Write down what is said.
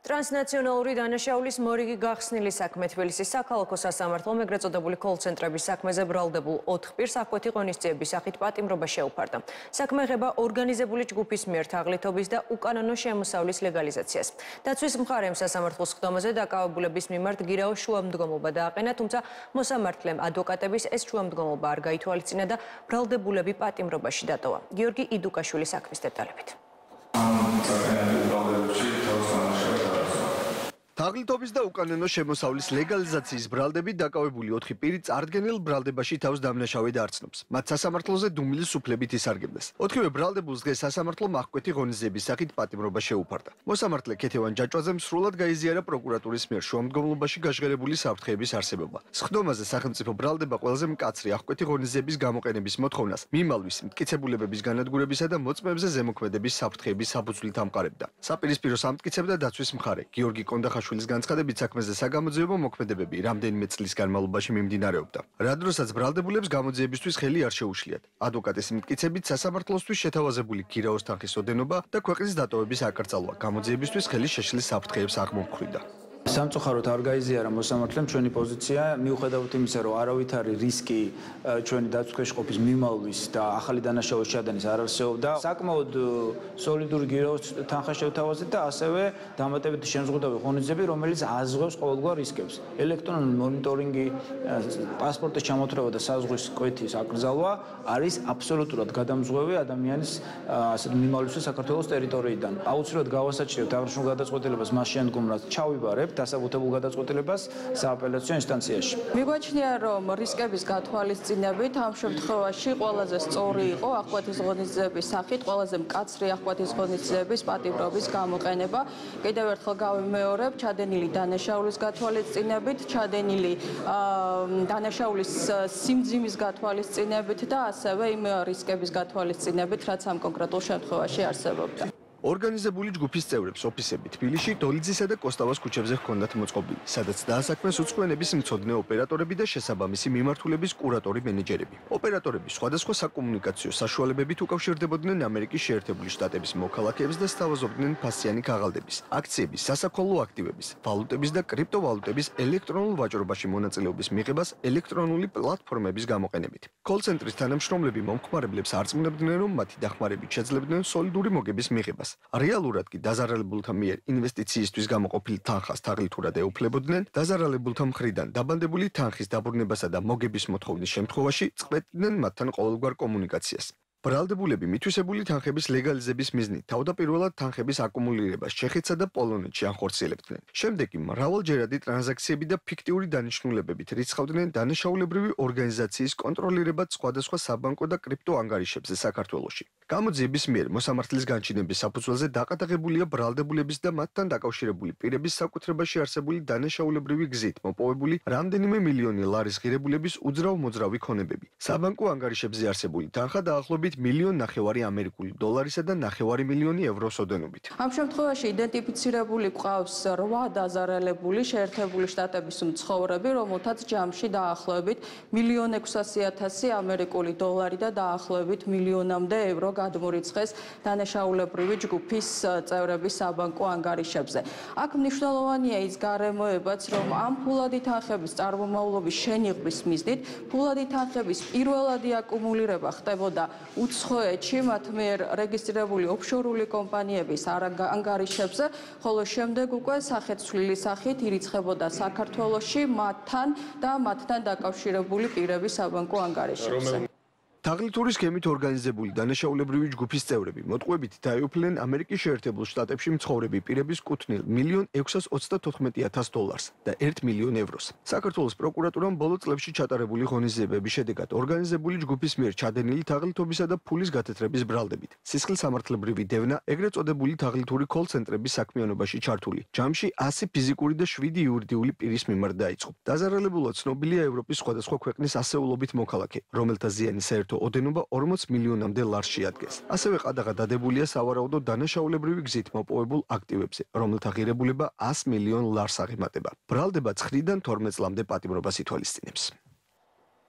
ტრანსნაციონალური დანაშაულის მორიგი გახსნილი საქმე თბილისის საქალაქო სასამართლომ ეგრეთ წოდებული კოლ-ცენტრების საქმეზე ბრალდებულ 4 პირს აკვეთი ღონისძიების სახით პატიმრობა შეუფარდა. საქმე ეხება ორგანიზებული ჯგუფის მიერ თაღლითობის და უკანონო შემოსავლის ლეგალიზაციას. დაცვის მხარემ სასამართლოს ხდომაზე დაკავებულების მიმართ გირაო შუამდგომობა დააყენა, თუმცა მოსამართლემ ადვოკატების ეს შუამდგომობა არ გაითვალისწინა და ბრალდებულები პატიმრობაში დატოვა. გიორგი იდუკაშვილი საქმის დეტალებით. თაღლითობის და უკანონო შემოსავლის ლეგალიზაციის ბრალდებით დაკავებული 4 პირი წარდგენილ ბრალდებაში თავს დამნაშავედ არცნობს. მათ სასამართლოზე დუმილის უფლებით ისარგებლეს. 4-ვე ბრალდებულს დღეს სასამართლომ აღკვეთი ღონისძიების სახით პატიმრობა შეუფარდა. მოსამართლე ქეთევან ჯაჭვაძემ სრულად გაიზიარა პროკურატურის მიერ შუამდგომლობაში გაჟღერებული საფრთხეების არსებობა. სხდომაზე სახელმწიფო ბრალდება ყველაზე მკაცრი აღკვეთი ღონისძიების გამოყენების მოთხოვნას მიმალვის, მტკიცებულებების განადგურებისა და მოწმეებზე ზემოქმედების საფრთხეების საფუძვლით ამყარებდა. საპირისპიროს ამტკიცებდა დაცვის მხარე გიორგი კონდახაშვილის განცხადებით საქმეზე საგამოძიებო მოქმედებები რამდენიმე წლის განმავლობაში მიმდინარეობდა. რა დროსაც ბრალდებულებს გამოძიებისთვის ხელი არ შეუშლიათ. ადვოკატის მტკიცებით სასამართლოსთვის შეთავაზებული გირაოს თანხის ოდენობა და ქვეყნის დატოვების აკრძალვა გამოძიებისთვის ხელი შეშლის საფრთხეებს აღმოფხვიდა. სამწუხაროდ არ გაიზიარა მოსამართლემ ჩვენი პოზიცია, მიუხედავად იმისა, რომ არავითარი რისკი ჩვენი დაცვის ყოფის მიმალვის და ახალი დანაშაულის ჩადენის არ არსებობდა. საკმაოდ სოლიდური გირაოს თანხა შევთავაზეთ და ასევე დამატებითი შემზღუდავი ღონისძიები, რომელიც აზღვევს ყოველგვარ რისკებს. ელექტრონული მონიტორინგი, პასპორტის ჩამოთვლება და საზღვის კვეთის აკრძალვა არის აბსოლუტურად გადამზღვევი ადამიანის ასეთ მიმავლისთვის საქართველოს ტერიტორიიდან. აუცილებლად გავასაჩივრებთ აღნიშნულ გადაწყვეტილებას მას შემდგომ, რაც ჩავიბარებთ დასაბუთებულ გადაწყვეტილებას სააპელაციო ინსტანციაში. მიგვაჩნია, რომ რისკების გათვალისწინებით ამ შემთხვევაში ყველაზე სწორი იყო აღკვეთის ღონისძიების სახით ყველაზე მკაცრი აღკვეთის ღონისძიების პატიმრობის გამოყენება. კიდევ ერთხელ გავიმეორებ, ჩადენილი დანაშაულის გათვალისწინებით, ჩადენილი დანაშაულის სიმძიმის გათვალისწინებით და ასევე იმ რისკების გათვალისწინებით, რაც ამ კონკრეტულ შემთხვევაში არსებობდა. ორგანიზებული ჯგუფის წევრებს ოფისები თბილისში, დოლიძისა და კოსტავას ქუჩებზე ჰქონდათ მოწყობილი, სადაც დაასაქმეს უცხოენების მცოდნე ოპერატორები და შესაბამისი მიმართულების კურატორი მენეჯერები. ოპერატორები სხვადასხვა საკომუნიკაციო საშუალებებით უკავშირდებოდნენ ამერიკის შეერთებული შტატების მოქალაქეებს და სთავაზობდნენ ფასიანი ქაღალდების, აქციების, სასაქონლო აქტივების, ვალუტების და კრიპტოვალუტების ელექტრონულ ვაჭრობაში მონაწილეობის მიღებას ელექტრონული პლატფორმების გამოყენებით. კოლ-ცენტრის თანამშრომლები მომხმარებლებს არწმუნებდნენ, რომ მათი დახმარებით შეძლებდნენ სოლიდური მოგების მიღებას. რეალურად კი დაზარალებულთა მიერ ინვესტიციისთვის გამოყოფილ თანხას თაღლითურად ეუფლებოდნენ, დაზარალებულთა მხრიდან დაბანდებული თანხის დაბრუნებასა და მოგების მოთხოვნის შემთხვევაში წყვეტდნენ მათთან ყოველგვარ კომუნიკაციას. ბრალდებულები მითვისებული თანხების ლეგალიზების მიზნით თავდაპირველად თანხების აკუმულირებას ჩეხეთსა და პოლონეთში ანხორციელებდნენ. შემდეგ კი მრავალჯერადი ტრანზაქციები და ფიქტიური დანიშნულებებით რიცხავდნენ დანაშაულებრივი ორგანიზაციის კონტროლირებად სხვადასხვა საბანკო და კრიპტო ანგარიშებზე საქართველოში. გამოძიების მიერ მოსამართლის განჩინების საფუძველზე დაყადაღებულია ბრალდებულების და მათთან დაკავშირებული პირების საკუთრებაში არსებული დანაშაულებრივი გზით მოპოვებული რამდენიმე მილიონი ლარის ღირებულების უძრავ-მოძრავი ქონებები. საბანკო ანგარიშებზე არსებული თანხა დაახლოებით 1,5 მილიონი ამერიკული დოლარისა და 9 მილიონი ევროს ოდენობით. ამ შემთხვევაში იდენტიფიცირებული გვყავს 8 დაზარალებული შეერთებული შტატების მცხოვრები, რომელთაც ჯამში დაახლოებით 1,600,000 ამერიკული დოლარი და დაახლოებით 1 მილიონამდე ევრო გადმორიცხეს დანაშაულებრივი ჯგუფის წევრების საბანკო ანგარიშებზე. აქ მნიშვნელოვანია ის გარემოებაც, რომ ამ ფულადი თანხების წარმომავლობის შენიღბის მიზნით ფულადი თანხების პირველადი აკუმულირება ხდებოდა უცხოეთში მათ მიერ რეგისტრირებული ოფშორული კომპანიების ანგარიშებზე, ხოლო შემდეგ უკვე სახეცვლილის სახით ირიცხებოდა საქართველოში მათთან და მათთან დაკავშირებული პირების საბანკო ანგარიშებზე. თაღლითური სქემით ორგანიზებული დანაშაულებრივი ჯგუფის წევრები მოტყუებით დაეუფლნენ ამერიკის შეერთებულ შტატებში მცხოვრები პირების კუთვნილ 1,634,000 დოლარს და 1 მილიონ ევროს. საქართველოს პროკურატურამ ბოლო წლებში ჩატარებული ღონისძიებების შედეგად ორგანიზებული ჯგუფის მიერ ჩადენილი თაღლითობისა და ფულის გათეთრების ბრალდებით სისხლისამართლებრივი დევნა ეგრეთ წოდებული თაღლითური კოლ-ცენტრების საქმიანობაში ჩართული ჯამში 100 ფიზიკური და 7 იურიდიული პირის მიმართ დაიწყო. დაზარალებულად ცნობილია ევროპის სხვადასხვა ქვეყნის ასეულობით მოქალაქე, რომელთა ზიანი საერთო ოდენობა 40 მილიონამდე ლარს შეადგენს. ასევე ყადაღა დადებულია სავარაუდო დანაშაულებრივი გზით მოპოვებულ აქტივებზე, რომელთა ღირებულება 100 მილიონ ლარს აღემატება. ბრალდება 9-დან 12 წლამდე პატიმრობას ითვალისწინებს.